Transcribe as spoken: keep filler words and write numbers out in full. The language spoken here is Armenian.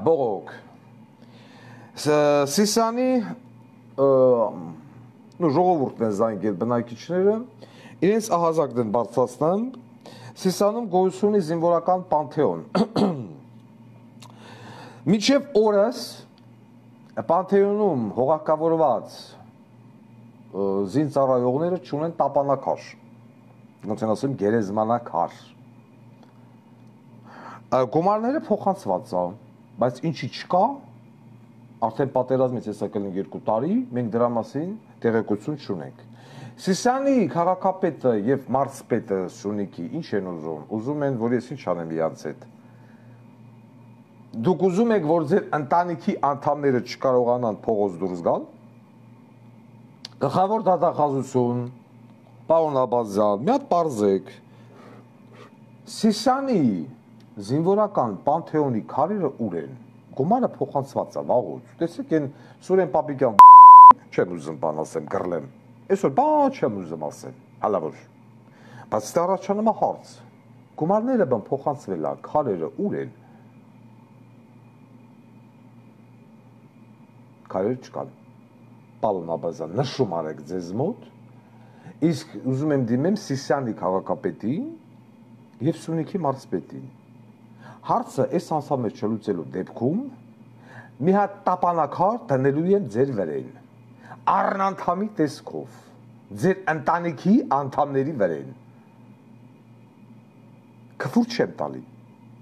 Բողոք Սիսանի ժողովուրդն են զանգել բնակիչները իրենց ահազակն են բարձրացնան Սիսանում գոյություն ունի զինվորական պանթեոն մինչև օրս պանթեոնում հողակավորված զինծառայողները չունեն տապանակար ոնց են ասում գերեզմանակար գումարները փոխանցված է բայց ինչի չկա արդեն պատերազմից է եկել երկու տարի մենք դրա մասին տեղեկություն չունենք Սիսիանի քաղաքապետը եւ մարզպետը Սյունիքի ինչ են ուզում ուզում են որ ես ինչ անեմ իրանց հետ դուք ուզում եք որ ձեր ընտանիքի անդամները չկարողանան փողոց դուրս գալ գլխավոր դատախազություն պարոն Աբազյան մի հատ բարձեք Սիսիանի զինվորական պանթեոնի քարերը ուր են գումարը փոխանցված է վաղուց տեսեք այն Սուրեն Պապիկյան չեմ ուզում բան ասեմ գրլեմ այսօր բան չեմ ուզում ասեմ հալա որ բայց դա առաջանում է հարց գումարները բան փոխանցվել է քարերը ուր են քարերը չկան պարոն Աբազյան նշում արեք ձեզ մոտ իսկ ուզում եմ դիմեմ Սիսիանի քաղաքապետին եւ Սյունիքի մարզպետին հարցը այս անսամեջ չլուծելու դեպքում մի հատ տապանակար դնելու են ձեր վրեն առնանդամի տեսքով ձեր ընտանիքի անդամների վրեն քֆուր չեմ տալի